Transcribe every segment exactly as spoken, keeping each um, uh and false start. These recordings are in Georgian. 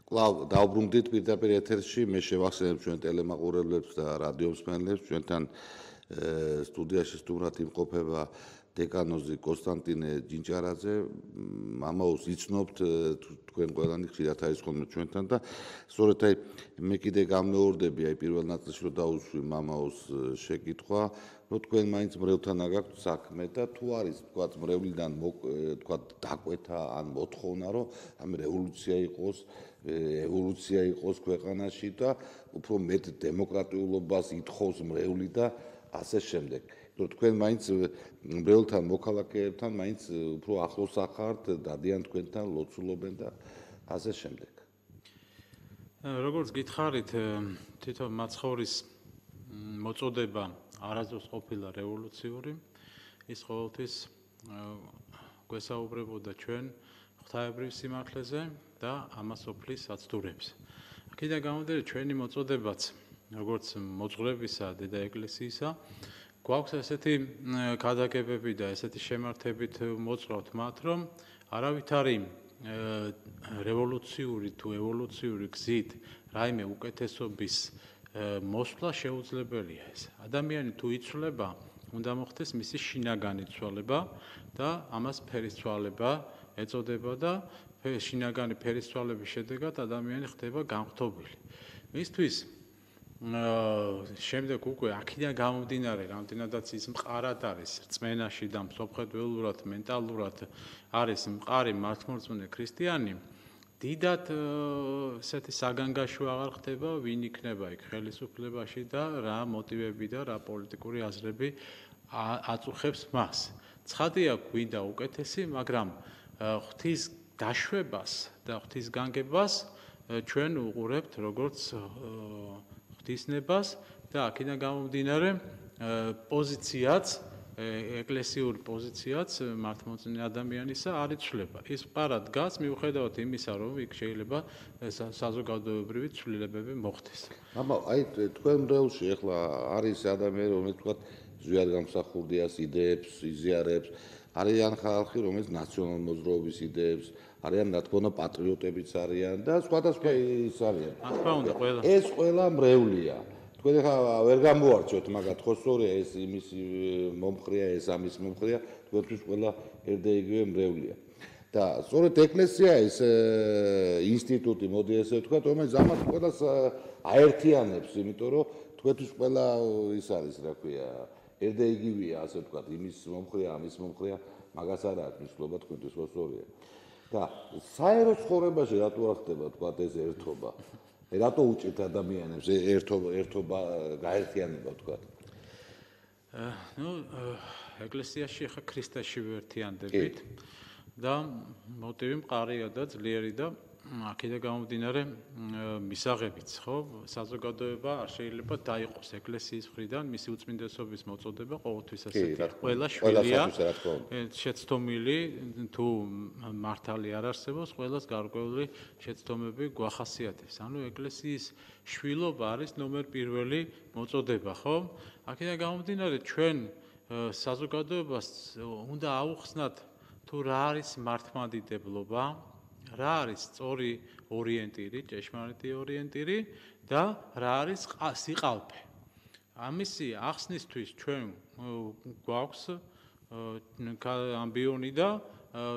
კлау დაუბრუნდით პირდაპირ ეთერში, მე შევახსენებ ჩვენ ტელემაყურებლებს და რადიო მსმენელებს, ჩვენთან სტუდიაში სტუმრად იმყოფება დეკანოზი კონსტანტინე ჯინჭარაძე, მამაოს იცნობთ თქვენ ყველანი ხშირად არის ხოლმე ჩვენთან და სწორედ აი მე კიდე გამეორდები აი პირველ ნაწილში რომ დაუსვი მამაოს შეკითხვა, რომ თქვენ მაინც მრევლთან აგაქვთ საქმე და თუ არის თქვა მრევლიდან თქვა დაკვეთა ან მოთხოვნა რომ ამ რევოლუცია იყოს, ევოლუცია იყოს ქვეყანაში და უფრო მეტ დემოკრატიულობას ითხოვს მრევლი და ასე შემდეგ. რომ თქვენ მაინც მრევლთან მოქალაქეებთან მაინც უფრო ახლოს ახართ, დადიან თქვენთან, ლოცულობენ და ასე შემდეგ. როგორც გითხარით, თვითონ მაცხოვრის მოწოდება არასდროს ყოფილა რევოლუციური, ის ყოველთვის გვესაუბრებოდა ჩვენ ღვთაებრივ სიმართლეზე და ამას ოფლის აცდურებს. აქედან გამომდინარე, ჩვენი მოწოდებაც, როგორც მოძღვრებისა დედა ეკლესიისა, გვაქვს ესეთი ქადაგებები და ესეთი შემართებით მოძღვრავთ მათ, რომ არავითარი რევოლუციური თუ ევოლუციური გზით რაიმე უკეთესობის მოსვლა შეუძლებელია ეს. ადამიანი თუ იცვლება, უნდა მოხდეს მისი შინაგანი ცვალება და ამას ფერისცვალება ეწოდება და შინაგანი ფერისცვალების შედეგად ადამიანი ხდება განღთობილი. მისთვის შემდეგ უკვე აქედან გამომდინარე, რამდენადაც ის მყარად არის რწმენაში და მსოფლმხედველურად, მენტალურად არის მყარი მართლმორწმუნე ქრისტიანი, დიდად ესეთი საგანგაშო აღარ ხდება, ვინ იქნება იქ ხელისუფლებაში და რა მოტივები და რა პოლიტიკური აზრები აწუხებს მას. ცხადია, გვინდა უკეთესი, მაგრამ ღვთის დაშვებას და ღვთის განგებას ჩვენ უყურებთ როგორც ღვთისნებას და აქედან გამომდინარე პოზიციაც, ეკლესიური პოზიციაც მართლმორწმუნე ადამიანისა არ იცვლება. ის მყარად დგას მიუხედავად იმისა, რომ იქ შეიძლება საზოგადოებრივი ცვლილებები მოხდეს. აბა, აი თქვენ მრევლში ახლა არის ადამიანი, რომელიც თქვა ზვიად გამსახურდიას იდეებს, იზიარებს, არიან ხალხი, რომელიც ნაციონალ მოძრაობის იდეებს, არიან რა თქმა უნდა პატრიოტებიც არიან და სხვადასხვა ის არიან. ეს ყველა მრევლია. თქვენ ახლა ვერ გამოარჩევთ მაგათ, ხო სწორია ეს იმის მომხრია, ეს ამის მომხრია, თქვენთვის ყველა ერთდაიგივე მრევლია. და სწორედ ეკლესია ეს ინსტიტუტი, მოდი ესე ვთქვათ, რომელიც ამას ყველას აერთიანებს, იმიტომ რომ თქვენთვის ყველა ის არის, რა ქვია, ერთდაიგივეა, ასე ვთქვათ, იმის მომხრია, ამის მომხრია, მაგას არ აქვს მნიშვნელობა თქვენთვის, ხო სწორია. და საერო ცხოვრებაში რატო არ ხდება თქვა ეს ერთობა? რატო უჭირთ ადამიანებს ერთობა, ერთობა გაერთიანება თქვა? ნუ ეკლესიაში ხა ქრისტეში ვერთიანდებით და მოტივი მყარია და ძლიერი და აქედან გამომდინარე მისაღებიც, ხო? საზოგადოება არ შეიძლება დაიყოს ეკლესიის მხრიდან მისი უწმინდესობის მოწოდება ყოველთვის ასეთი. ყველა შვილია შეცდომილი თუ მართალი არ არსებობს, ყველას გარკვეული შეცდომები გვახასიათებს. ანუ ეკლესიის შვილობა არის ნომერ პირველი მოწოდება, ხო? აქედან გამომდინარე ჩვენ საზოგადოებას უნდა აუხსნათ თუ რა არის მართლმადიდებლობა, რა არის სწორი ორიენტირი, ჭეშმარიტი ორიენტირი და რა არის სიყალბე. ამისი ახსნისთვის ჩვენ გვაქვს ამბიონი და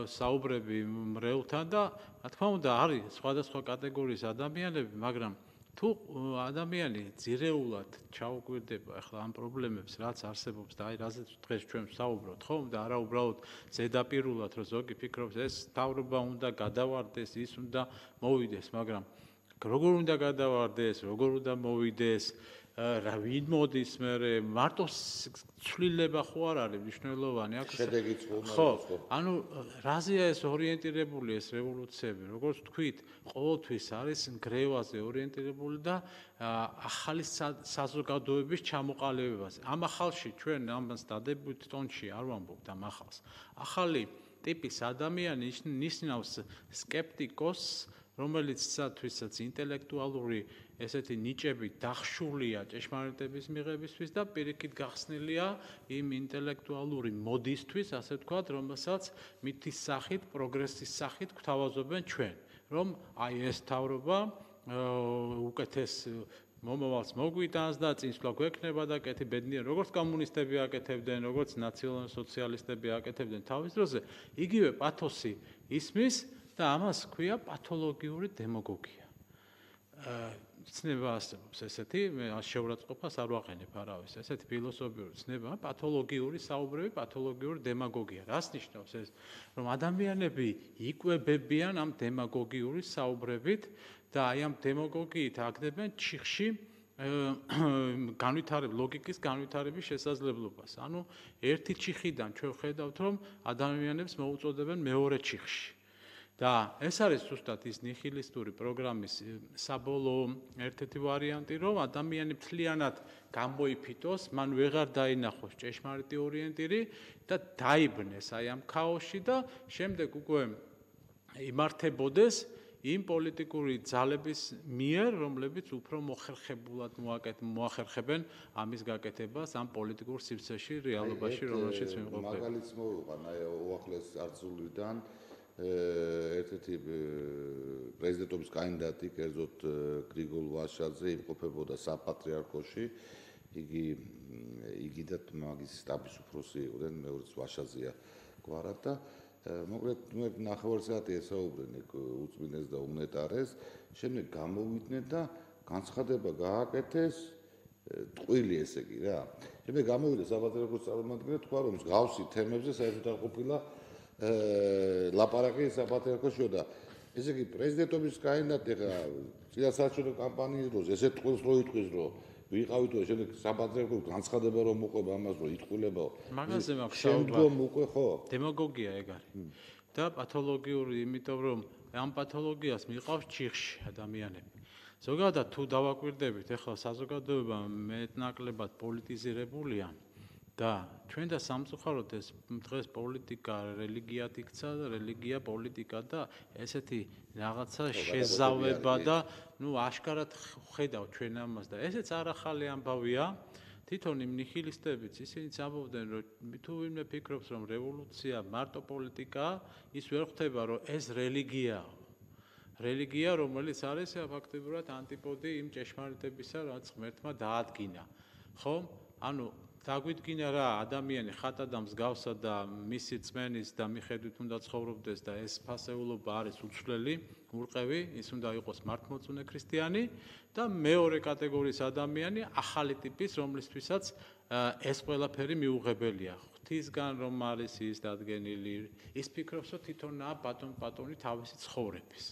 საუბრები მრევლთან და რა თქმა უნდა არის სხვადასხვა კატეგორიის ადამიანები, მაგრამ თუ ადამიანი ძირეულად ჩაუკვირდება ახლა ამ პრობლემებს, რაც არსებობს და აი რაზეც დღეს ჩვენ ვსაუბრობთ, ხო? და არა უბრალოდ ზედაპირულად, რომ ზოგი ფიქრობს, ეს თავრობა უნდა გადავარდეს, ის უნდა მოვიდეს, მაგრამ როგორ უნდა გადავარდეს, როგორ უნდა მოვიდეს, რა ვინ მოდის მე, მარტო ცვლილება ხო არ არის მნიშვნელოვანი, აქ შედეგიც ხო, ანუ რაზეა ეს ორიენტირებული ეს რევოლუციები, როგორც თქვით, ყოველთვის არის გრევაზე ორიენტირებული და ახალი საზოგადოების ჩამოყალიბებას. ამ ახალში ჩვენ ამას დადებითი ტონში არ ვამბობთ ამ ახალს. ახალი ტიპის ადამიანი ნიშნავს სკეპტიკოს, რომელიცთვისაც ინტელექტუალური ესეთი ნიჭები დახშულია ჭეშმარიტების მიღებისთვის და პირიქით გახსნილია იმ ინტელექტუალური მოდისთვის, ასე ვთქვათ, რომელსაც მითის სახით, პროგრესის სახით გვთავაზობენ ჩვენ. რომ აი ეს თავრობა უკეთეს მომავალს მოგვიტანს და წინსვლა გვექნება და კეთი ბედნიერ როგორც კომუნისტები აკეთებდნენ, როგორც ნაციონალ-სოციალისტები აკეთებდნენ თავის დროზე, იგივე პათოსი ისმის და ამას ქვია პათოლოგიური დემაგოგია. ცნება არსებობს ესეთი, მე შეურაცხყოფას არ ვაყენებ არავის, ესეთი ფილოსოფიური ცნება, პათოლოგიური საუბრები, პათოლოგიური დემაგოგია. რას ნიშნავს ეს? რომ ადამიანები იკვებებიან ამ დემაგოგიური საუბრებით და აი ამ დემაგოგიით აგდებენ ჩიხში განვითარების ლოგიკის განვითარების შესაძლებლობას. ანუ ერთი ჩიხიდან ჩვენ ხედავთ, რომ ადამიანებს მოუწოდებენ მეორე ჩიხში. და ეს არის ზუსტად ის ნიჰილისტური პროგრამის საბოლოო ერთ-ერთი ვარიანტი, რომ ადამიანი მთლიანად გამოიფიტოს, მან ვეღარ დაინახოს ჭეშმარიტი ორიენტირი და დაიბნეს აი ამ ქაოსში და შემდეგ უკვე იმართებოდეს იმ პოლიტიკური ძალების მიერ, რომლებიც უფრო მოხერხებულად მოახერხებენ ამის გაკეთებას ამ პოლიტიკურ სივრცეში, რეალობაში, რომელშიც ვიმყოფებით. მაგალითს მოვიყვან აი უახლეს წარსულიდან ერთ-ერთი პრეზიდენტობის კანდიდატი, კერძოდ გრიგოლ ვაშაძე იმყოფებოდა საპატრიარქოში, იგი იგი და მაგის სტაბის უფროსი იყვნენ, მეორეც ვაშაძეა გვარად და მოკლედ ნახევარ საათი ესაუბრენ იქ უწმინდეს და უნეტარეს, შემდეგ გამოვიდნენ და განცხადება გააკეთეს ტყვილი ესე იგი რა. შემდეგ გამოვიდა საპატრიარქოს წარმომადგენელი, თქვა რომ მსგავსი თემებზე საერთოდ არ ყოფილა ლაპარაკი საპატრიარქოში და ესე იგი პრეზიდენტობის კანდიდატი ხა წინასაარჩევნო კამპანიის დროს ესე ტყუილს რო იტყვის რომ ვიყავით და შემდეგ საპატრიარქოს განცხადება რომ მოყვება ამას რომ იტყვილებაო მაგაზე მაქვს შემდგომ უკვე ხო დემაგოგია ეგ არის და პათოლოგიური იმიტომ რომ ამ პათოლოგიას მიყავს ჩიხში ადამიანები ზოგადად თუ დავაკვირდებით ახლა საზოგადოება მეტნაკლებად პოლიტიზირებულია და ჩვენ და სამწუხაროდ ეს დღეს პოლიტიკა რელიგიად იქცა და რელიგია პოლიტიკა და ესეთი რაღაცა შეზავება და ნუ აშკარად ხედავ ჩვენ ამას და ესეც არ ახალი ამბავია თვითონ იმ ნიჰილისტებიც ისინიც ამბობდნენ რომ თუ ვინმე ფიქრობს რომ რევოლუცია მარტო პოლიტიკაა ის ვერ ხვდება რომ ეს რელიგიაა რელიგია რომელიც არის ფაქტობრივად ანტიპოდი იმ ჭეშმარიტებისა რაც ღმერთმა დაადგინა ხო ანუ დაგვიდგინა რა ადამიანი ხატად მსგავსად და მისი წმენის და მიხედვით უნდა ცხოვრობდეს და ეს ფასეულობა არის უცვლელი, ურყევი, ის უნდა იყოს მართლმორწმუნე ქრისტიანი და მეორე კატეგორიის ადამიანი ახალი ტიპის, რომლისთვისაც ეს ყველაფერი მიუღებელია. ღვთისგან რომ არის ის დადგენილი, ის ფიქრობს, რომ თვითონაა ბატონ პატონი თავისი ცხოვრების.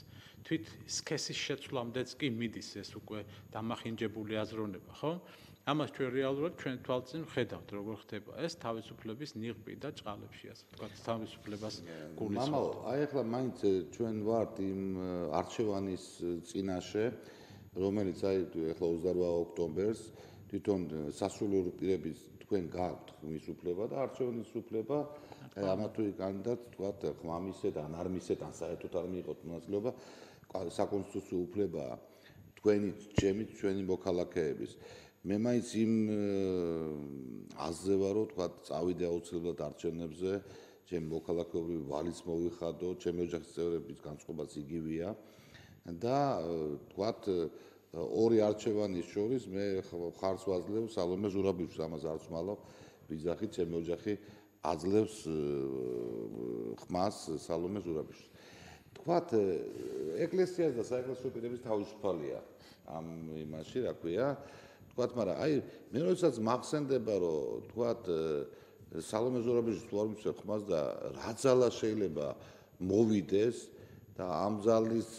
თვით სქესის შეცვლამდეც კი მიდის ეს უკვე დამახინჯებული აზროვნება, ხო? ამას ჩვენ რეალურად ჩვენ თვალწინ ხედავთ როგორ ხდება ეს თავისუფლების ნიღბი და ჭყალებში ასე ვთქვათ თავისუფლებას გულისხმობ. მამაო, აი ახლა მაინც ჩვენ ვართ იმ არჩევანის წინაშე, რომელიც აი ახლა ოცდაოთხ ოქტომბერს თვითონ სასულიერო პირების თქვენ გაქვთ ხმის უფლება და არჩევანის უფლება ამა თუ იქ კანდიდატს ვთქვათ ხმამისეთ ან არ მისეთ ან საერთოდ არ მიიღოთ მონაწილეობა საკონსტიტუციო უფლება თქვენი ჩემი ჩვენი მოქალაქეების მე მაინც იმ აზრზე ვარ რომ თქვა წავიდე აუცილებლად არჩევნებზე ჩემი მოქალაქეობრივი ვალიც მოვიხადო ჩემი ოჯახის წევრების განწყობაც იგივეა და თქვა ორი არჩევანის შორის მე ხარს ვაძლევ სალომე ზურაბიშვილს ამას არც მალავ ვიზახი ჩემი ოჯახი აძლევს ხმას სალომე ზურაბიშვილს თქვა ეკლესიას და საეკლესიო პირების თავისუფალია ამ იმაში რა ქვია თქვათ, მაგრამ აი მე როდესაც მახსენდება რომ თქვათ სალომე ზურაბიშვილს თუ არ მიცემ ხმას და რა ძალა შეიძლება მოვიდეს და ამ ძალის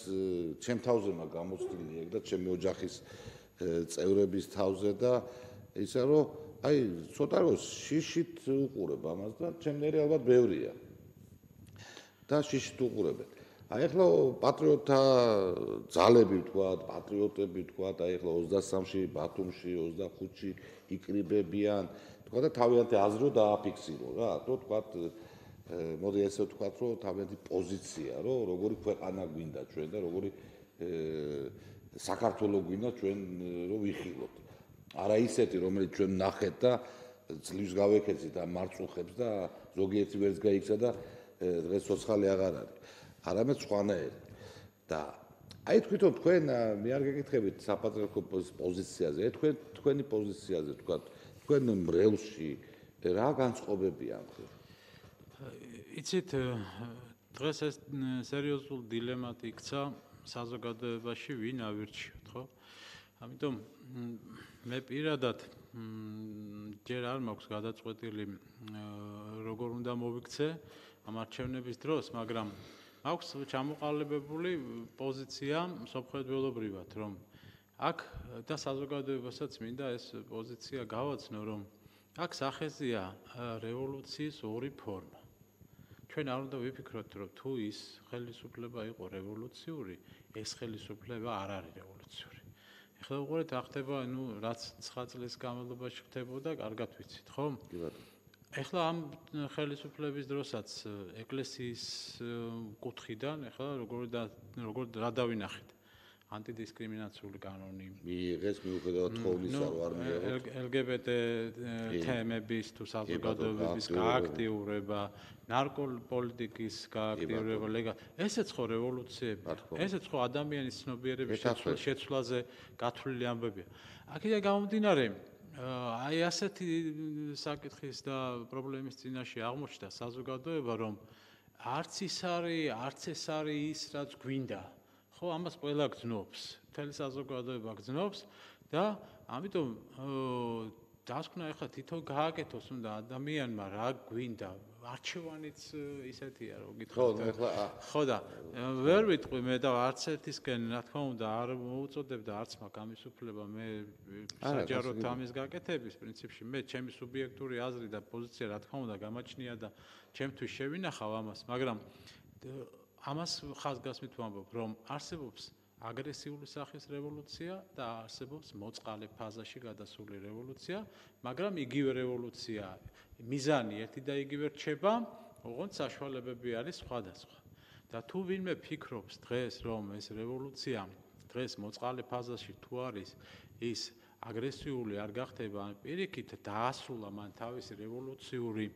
ჩემ თავზე მაგ გამოცდილი ეგ და ჩემი ოჯახის წევრების თავზე და ისა რომ აი ცოტა რომ შიშით უყურებ ამას და ჩემნერი ალბათ ბევრია და შიშით უყურებენ აი ახლა პატრიოტთა ძალები ვთქვათ, პატრიოტები ვთქვათ, აი ახლა ოცდასამში, ბათუმში, ოცდახუთში იკრიბებიან, თქვა და თავიანთი აზრი რომ დააფიქსირო რა, თუ თქვათ, მოდი ესე ვთქვათ, რომ თავიანთი პოზიცია, რომ როგორი ქვეყანა გვინდა ჩვენ და როგორი საქართველო გვინდა ჩვენ რომ ვიხილოთ. არა ისეთი, რომელიც ჩვენ ნახეთ და ძლივს გავეკეცით ამ მარწუხებს და ზოგიერთი ვერც გაიქცა და დღეს ცოცხალი აღარ არის. არამედ სხვანაირი. და აი თვითონ თქვენ მე არ გეკითხებით საპატრიარქო პოზიციაზე, თქვენ თქვენი პოზიციაზე თქვა, თქვენ მრევლში რა განწყობებია ამ ხრივ? იცით, დღეს ეს სერიოზულ დილემად იქცა საზოგადოებაში, ვინ ავირჩიოთ, ხო? ამიტომ მე პირადად ჯერ არ მაქვს გადაწყვეტილი როგორ უნდა მოვიქცე ამ არჩევნების დროს, მაგრამ აქვს ჩამოყალიბებული პოზიცია მსოფლმხედველობრივად, რომ აქ და საზოგადოებასაც მინდა ეს პოზიცია გავაცნო, რომ აქ სახეზეა რევოლუციის ორი ფორმა. ჩვენ არ უნდა ვიფიქროთ, რომ თუ ის ხელისუფლება იყო რევოლუციური, ეს ხელისუფლება არ არის რევოლუციური. ეხლა უყურეთ, რა ხდება, ну, რაც ცხრა წლის განმავლობაში ხდებოდა, კარგად ვიცით, ხო? კი ბატონო. ეხლა ამ ხელისუფლების დროსაც ეკლესიის კუთხიდან, ეხლა როგორ და როგორ რა დავინახეთ? ანტიდისკრიმინაციული კანონი. მიიღეს მიუხედავად თხოვნისა, რომ არ მიიღოთ. ელ გი ბი ტე თემების თუ საზოგადოების გააქტიურება, ნარკოპოლიტიკის გააქტიურება, ლეგა. ესეც ხო რევოლუციები. ესეც ხო ადამიანის ცნობიერების შეცვლაზე გათვლილი ამბებია. აქედან გამომდინარე, აი ასეთი საკითხის და პრობლემის წინაშე აღმოჩნდა საზოგადოება, რომ არც ის არის, არც ეს არის ის, რაც გვინდა. ხო, ამას ყველა გძნობს, მთელი საზოგადოება გძნობს და ამიტომ დასკვნა ეხლა თვითონ გააკეთოს უნდა ადამიანმა რა გვინდა, არჩევანიც ისეთია, რომ გითხრათ. ხო, ეხლა ხო და ვერ ვიტყვი მე და არც ერთისკენ, რა თქმა უნდა, არ მოუწოდებდა არც მაგ ამის უფლება მე საჯაროდ ამის გაკეთების პრინციპში, მე ჩემი სუბიექტური აზრი და პოზიცია, რა თქმა უნდა, გამაჩნია და ჩემთვის შევინახავ ამას, მაგრამ ამას ხაზგასმით ვამბობ, რომ არსებობს აგრესიული სახის რევოლუცია და არსებობს მოწყალე ფაზაში გადასული რევოლუცია, მაგრამ იგივე რევოლუცია, მიზანი ერთი და იგივე რჩება, ოღონდ საშუალებები არის სხვადასხვა. და თუ ვინმე ფიქრობს დღეს, რომ ეს რევოლუცია დღეს მოწყალე ფაზაში თუ არის, ის აგრესიული არ გახდება, პირიქით დაასრულა მან თავისი რევოლუციური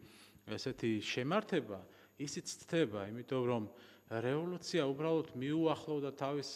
ესეთი შემართება, ისიც ცდება, იმიტომ რომ რევოლუცია უბრალოდ მიუახლოვდა თავის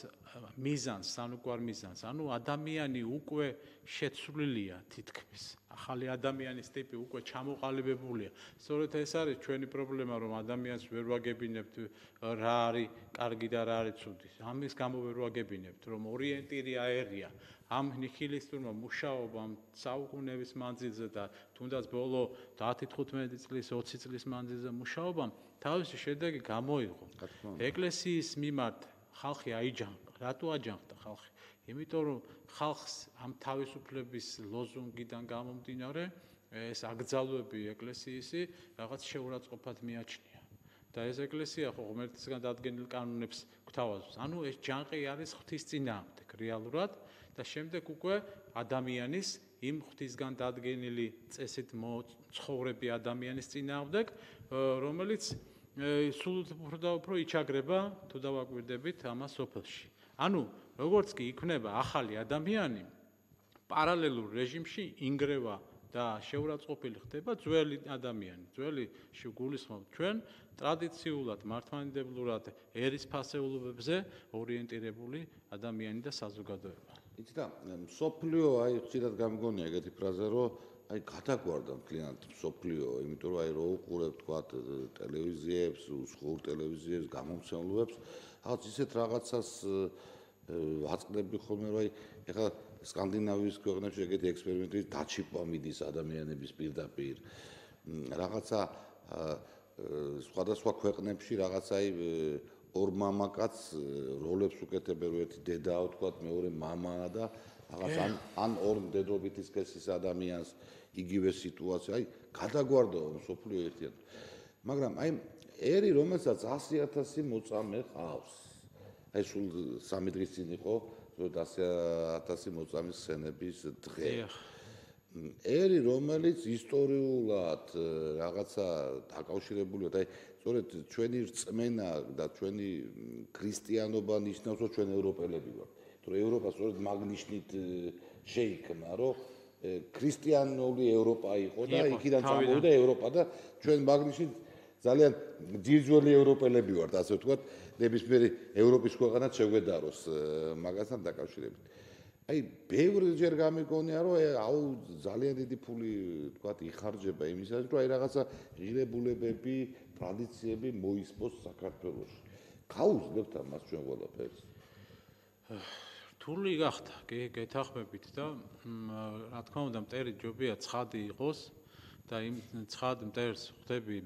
მიზანს, სანუკვარ მიზანს. ანუ ადამიანი უკვე შეცვლილია თითქმის. ახალი ადამიანის ტიპი უკვე ჩამოყალიბებულია. სწორედ ეს არის ჩვენი პრობლემა, რომ ადამიანს ვერ ვაგებინებთ რა არის კარგი და რა არის ცუდი. ამის გამო ვერ ვაგებინებთ, რომ ორიენტირი აერია. ამ ნიჰილისტურმა მუშაობამ საუკუნეების მანძილზე და თუნდაც ბოლო დათი თხუთმეტი წლის, ოცი წლის მანძილზე მუშაობამ თავისი შედეგი გამოიღო. ეკლესიის მიმართ ხალხი აიჯანყდა. რატო აჯანყდა ხალხი? იმიტომ რომ ხალხს ამ თავისუფლების ლოზუნგიდან გამომდინარე ეს აკრძალვები ეკლესიისი რაღაც შეურაცხყოფად მიაჩნია. და ეს ეკლესია ხო ღმერთისგან დადგენილ კანონებს გვთავაზობს. ანუ ეს ჯანყი არის ღვთის წინააღმდეგ რეალურად და შემდეგ უკვე ადამიანის იმ ღვთისგან დადგენილი წესით მოცხოვრები ადამიანის წინააღმდეგ, რომელიც სულ უფრო და უფრო იჩაგრება, თუ დავაკვირდებით ამას სოფელში. ანუ როგორც კი იქნება ახალი ადამიანი, პარალელურ რეჟიმში ინგრევა და შეურაცხყოფილი ხდება ძველი ადამიანი. ძველი გულისხმობ ჩვენ ტრადიციულად, მართლმადიდებლურად ერისფასეულობებზე ორიენტირებული ადამიანი და საზოგადოება. იცი და მსოფლიო აი ხშირად გამგონია ეგეთი ფრაზა, რომ აი გადაგვარდა მთლიანად მსოფლიო, იმიტომ რომ აი რო უყურებ თქვა ტელევიზიებს, უცხოურ ტელევიზიებს, გამომცემლობებს, რაღაც ისეთ რაღაცას ვაწყდები ხოლმე, რომ აი ეხლა სკანდინავიის ქვეყნებში ეგეთი ექსპერიმენტი დაჩიპვა მიდის ადამიანების პირდაპირ. რაღაცა სხვადასხვა ქვეყნებში რაღაცა აი ორ მამაკაც როლებს უკეთებენ, ერთი დედაა თქვა, მეორე მამაა და რაღაც ან ან ორ მდედრობითი სქესის ადამიანს იგივე სიტუაცია, აი გადაგვარდა მსოფლიო ერთიანად. მაგრამ აი ერი, რომელსაც ასი ათასი მოწამე ყავს. აი სულ სამი დღის წინ იყო ასი ათასი მოწამის სცენების დღე. ერი, რომელიც ისტორიულად რაღაცა დაკავშირებულია, აი სწორედ ჩვენი რწმენა და ჩვენი ქრისტიანობა ნიშნავს, რომ ჩვენ ევროპელები ვართ. თუ ევროპა სწორედ მაგნიშნით შეიქმნა, რომ ქრისტიანული ევროპა იყო და იქიდან წამოვიდა ევროპა და ჩვენ მაგნიშნით ძალიან ძირძველი ევროპელები ვართ, ასე ვთქვათ, ნებისმიერი ევროპის ქვეყანაც შეგვედაროს მაგასთან დაკავშირებით. აი, ბევრჯერ გამიგონია, რომ აუ ძალიან დიდი ფული, ვთქვათ, იხარჯება იმისას, რომ აი რაღაცა ღირებულებები, ტრადიციები მოისპოს საქართველოში. გაუძლებთ ამას ჩვენ ყველაფერს. რთული გახდა, გეთახმებით და რა თქმა უნდა, მტერი ჯობია ცხადი იყოს და იმ ცხად მტერს ხვდები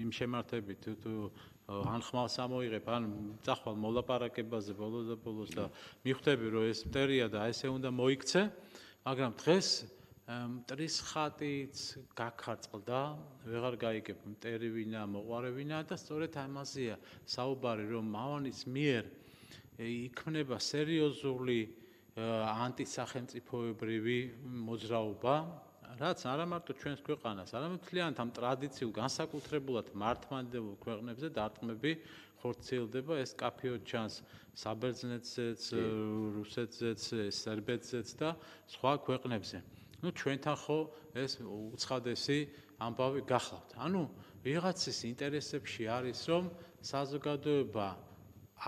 იმ შემართებით თუ ან ხმალს ამოიღებ, ან წახვალ მოლაპარაკებაზე ბოლოს და ბოლოს და მიხვდები, რომ ეს მტერია და ესე უნდა მოიქცე, მაგრამ დღეს მტრის ხატიც გაქარწყლდა, ვეღარ გაიგებ მტერი ვინა, მოყვარე ვინა და სწორედ ამაზეა საუბარი, რომ მავანის მიერ იქმნება სერიოზული ანტისახელმწიფოებრივი მოძრაობა, რაც არა მარტო ჩვენს ქვეყანას, არამედ მთლიანად ამ ტრადიციულ განსაკუთრებულად მართლმადიდებელ ქვეყნებზე დარტყმები ხორციელდება, ეს კაფეოდ ჩანს საბერძნეთზეც, რუსეთზეც, სერბეთზეც და სხვა ქვეყნებზე. ნუ ჩვენთან ხო ეს უცხადესი ამბავი გახლავთ. ანუ ვიღაცის ინტერესებში არის, რომ საზოგადოება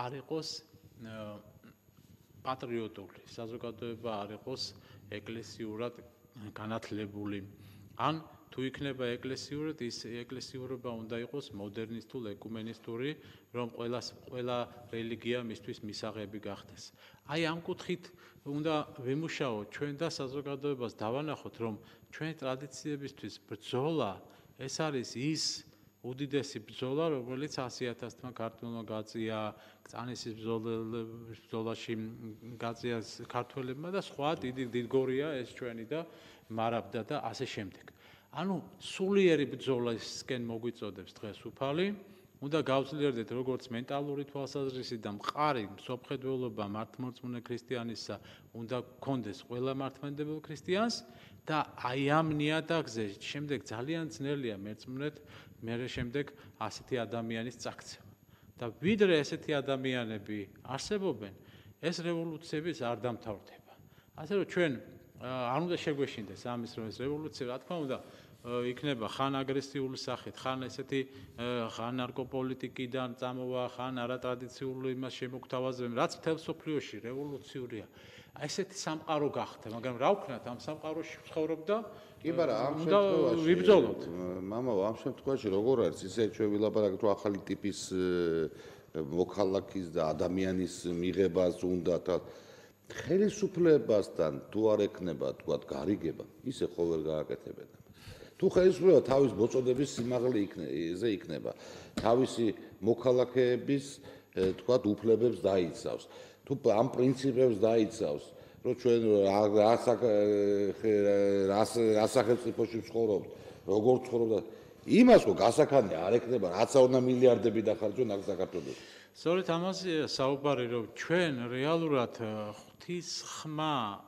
არ იყოს პატრიოტული, საზოგადოება არ იყოს ეკლესიურად განათლებული. ან თუ იქნება ეკლესიურად, ის ეკლესიურობა უნდა იყოს მოდერნისტულ, ეკუმენისტური, რომ ყველა ყველა რელიგია მისთვის მისაღები გახდეს. აი ამ კუთხით უნდა ვიმუშაოთ ჩვენ და საზოგადოებას დავანახოთ, რომ ჩვენი ტრადიციებისთვის ბრძოლა ეს არის ის უდიდესი ბრძოლა, რომელიც ასი ათასმა ქართველმა გაწია, კწანისის ბრძოლაში გაწია ქართველებმა და სხვა დიდი დიდგორია ეს ჩვენი და მარაბდა და ასე შემდეგ. ანუ სულიერი ბრძოლისკენ მოგვიწოდებს დღეს უფალი, უნდა გავძლიერდეთ როგორც მენტალური თვალსაზრისით და მყარი მსოფლმხედველობა მართლმორწმუნე ქრისტიანისა უნდა გქონდეს ყველა მართლმადიდებელ ქრისტიანს და აი ამ ნიადაგზე შემდეგ ძალიან ძნელია მერწმუნეთ მერე შემდეგ ასეთი ადამიანის წაქცევა. და ვიდრე ესეთი ადამიანები არსებობენ, ეს რევოლუციების არ დამთავრდება. ასე რომ ჩვენ არ უნდა შეგვეშინდეს ამის რომ ეს რევოლუცია, რა თქმა უნდა, იქნება ხან აგრესიული სახით, ხან ესეთი ხან ნარკოპოლიტიკიდან წამოვა, ხან არატრადიციული იმას შემოგთავაზებენ, რაც მთელ მსოფლიოში რევოლუციურია. ესეთი სამყარო გახდა, მაგრამ რა ვქნათ ამ სამყაროში ვცხოვრობ და კი ბარა, ამ შემთხვევაში ვიბრძოლოთ. მამაო, ამ შემთხვევაში როგორ არის ისე ჩვენ ვილაპარაკეთ რომ ახალი ტიპის მოქალაქის და ადამიანის მიღებას უნდა და ხელისუფლებასთან თუ არ ექნება თქვათ გარიგება, ისე ხო ვერ გააკეთებენ. თუ ხელისუფლება თავის მოწოდების სიმაღლე იქნეზე იქნება, თავისი მოქალაქეების თქვათ უფლებებს დაიცავს, თუ ამ პრინციპებს დაიცავს, რომ ჩვენ რა სახელმწიფოში ვცხოვრობთ, როგორ ვცხოვრობთ, იმას ხო გასახანი არ ექნება, რაც უნდა მილიარდები დახარჯონ აქ საქართველოში. სწორედ ამაზეა საუბარი, რომ ჩვენ რეალურად ღვთის ხმა,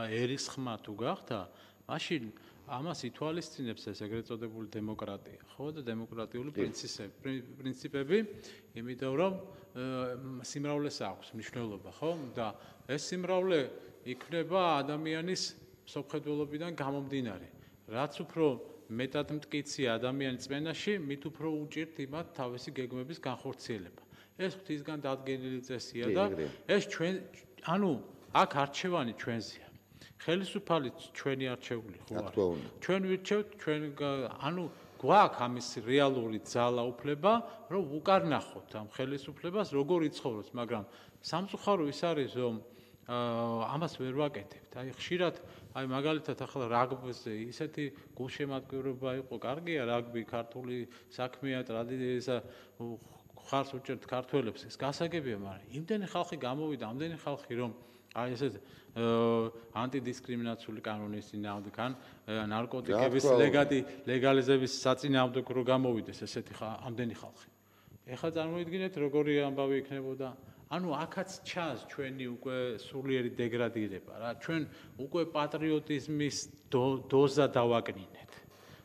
ერის ხმა თუ გახდა, მაშინ ამას ითვალისწინებს ეს ეგრეთ წოდებული დემოკრატია, ხო და დემოკრატიული პრინციპები, იმიტომ რომ სიმრავლეს აქვს მნიშვნელობა, ხო? და ეს სიმრავლე იქნება ადამიანის მსოფლმხედველობიდან გამომდინარე. რაც უფრო მეტად მტკიცია ადამიანის წმენაში, მით უფრო უჭირთ იმათ თავისი გეგმების განხორციელება. ეს ღვთისგან დადგენილი წესია და ეს ჩვენ, ანუ აქ არჩევანი ჩვენზეა. ხელისუფალი ჩვენი არჩეული ხო არის. ჩვენ ვირჩევთ, ჩვენ ანუ გვაქვს ამის რეალური ძალა უფლება, რომ უკარნახოთ ამ ხელისუფლებას, როგორ იცხოვრობს, მაგრამ სამწუხარო ის არის, რომ ამას ვერ ვაკეთებთ. აი ხშირად, აი მაგალითად ახლა რაგბიზე ისეთი გულშემატკივრობა იყო, კარგია რაგბი, ქართული საქმეა, ტრადიცია, ხარს უჭერთ ქართველებს, ეს გასაგებია, მაგრამ იმდენი ხალხი გამოვიდა, ამდენი ხალხი რომ აი ესეთ ანტიდისკრიმინაციული კანონის წინააღმდეგ ან ნარკოტიკების ლეგალიზების საწინააღმდეგ რო გამოვიდეს ესეთი ამდენი ხალხი. ეხლა წარმოიდგინეთ როგორი ამბავი იქნებოდა. ანუ აქაც ჩანს ჩვენი უკვე სულიერი დეგრადირება რა. ჩვენ უკვე პატრიოტიზმის დოზა დავაკნინეთ.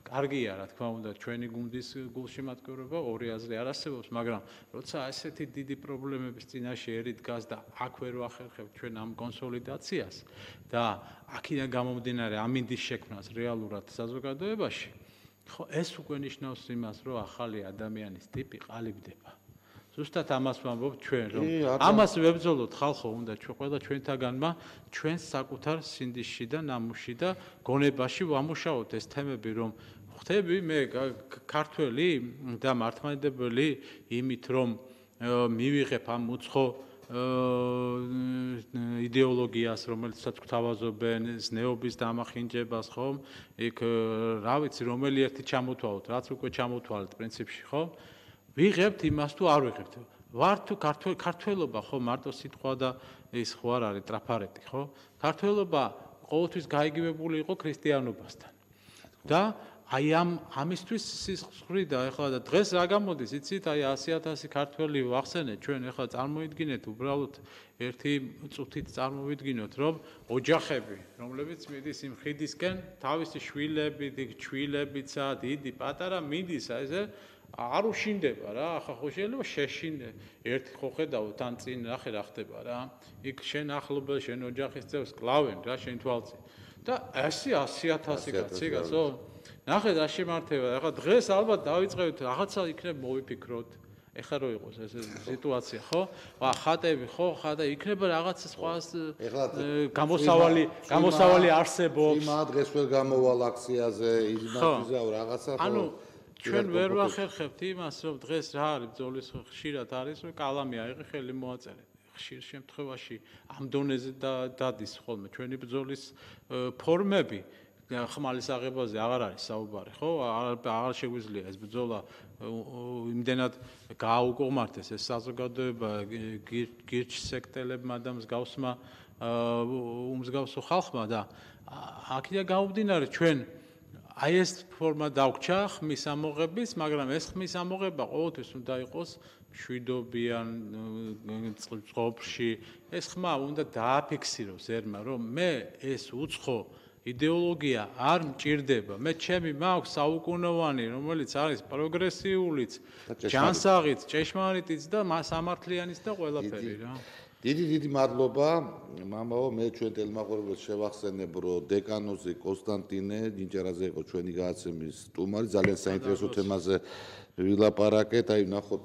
კარგია, რა თქმა უნდა, ჩვენი გუნდის გულშემატკივრობა ორი აზრი არ არსებობს, მაგრამ როცა ესეთი დიდი პრობლემების წინაშე ერი დგას და აქ ვერ ვახერხებთ ჩვენ ამ კონსოლიდაციას და აქედან გამომდინარე ამინდის შექმნას რეალურად საზოგადოებაში ხო, ეს უკვე ნიშნავს იმას, რომ ახალი ადამიანის ტიპი ყალიბდება. ზუსტად ამას ვამბობ ჩვენ, რომ ამას ვებრძოლოთ ხალხო, უნდა ჩვენ ყველა ჩვენთაგანმა ჩვენს საკუთარ სინდისში და ნამუსში და გონებაში ვამუშაოთ ეს თემები, რომ ხვდები მე ქართველი და მართლმადიდებელი იმით, რომ მივიღებ ამ უცხო იდეოლოგიას, რომელსაც გვთავაზობენ, ზნეობის დამახინჯებას, ხომ? იქ რა ვიცი, რომელი ერთი ჩამოთვალოთ, რაც უკვე ჩამოთვალეთ პრინციპში, ხო? ვიღებთ იმას თუ არ ვიღებთ. ვარ თუ ქართველობა, ხო, მარტო სიტყვა და ის ხო არ არის ტრაფარეტი, ხო? ქართველობა ყოველთვის გაიგივებული იყო ქრისტიანობასთან. და აი ამ ამისთვის სისხლი და ეხლა და დღეს რა გამოდის, იცით, აი ასი ათასი ქართველი ვახსენეთ, ჩვენ ეხლა წარმოვიდგინეთ, უბრალოდ ერთი წუთით წარმოვიდგინოთ, რომ ოჯახები, რომლებიც მიდის იმ ხიდისკენ, თავისი შვილები, ჩვილებიცა, დიდი, პატარა მიდის, აი ესე არ უშინდება რა, ახლა ხო შეიძლება შეშინდე. ერთი ხო ხედავ თან წინ ნახე რა ხდება რა. იქ შენ ახლობელ შენ ოჯახის წევრს კლავენ რა შენ თვალწინ. და ასი ასი ათასი კაცი კაცო. ნახე რა შემართება. ახლა დღეს ალბათ დავიწყებთ რაღაცა იქნებ მოვიფიქროთ. ეხლა რო იყოს ეს სიტუაცია, ხო? ვა ხატები, ხო, ხატა იქნება რაღაცა სხვა გამოსავალი, გამოსავალი არსებობს. იმა დღეს ვერ გამოვალ აქციაზე, იმას ვიზავ რაღაცა ხო? ანუ ჩვენ ვერ ვახერხებთ იმას, რომ დღეს რა არის ბრძოლის ხშირად არის, რომ კალამი აიღე ხელი მოაწერე. ხშირ შემთხვევაში ამ დონეზე დადის ხოლმე ჩვენი ბრძოლის ფორმები. ხმალის აღებაზე აღარ არის საუბარი, ხო? აღარ შეგვიძლია ეს ბრძოლა იმდენად გააუკომართეს ეს საზოგადოება გირჩსექტელებმა და მსგავსმა უმსგავსო ხალხმა და აქედან გამომდინარე ჩვენ აი ეს ფორმა დაგვჭა ხმის ამოღების, მაგრამ ეს ხმის ამოღება ყოველთვის უნდა იყოს მშვიდობიან წყობაში. ეს ხმა უნდა დააფიქსიროს ერმა, რომ მე ეს უცხო იდეოლოგია არ მჭირდება. მე ჩემი მაქვს საუკუნოვანი, რომელიც არის პროგრესიულიც, ჯანსაღიც, ჭეშმარიტიც და სამართლიანიც და ყველაფერი რა. დიდი დიდი მადლობა მამაო, მე ჩვენ ტელემაყურებელს შევახსენებ, რომ დეკანოზი კონსტანტინე ნინჯერაძე იყო ჩვენი გადაცემის სტუმარი, ძალიან საინტერესო თემაზე ვილაპარაკეთ, აი ნახოთ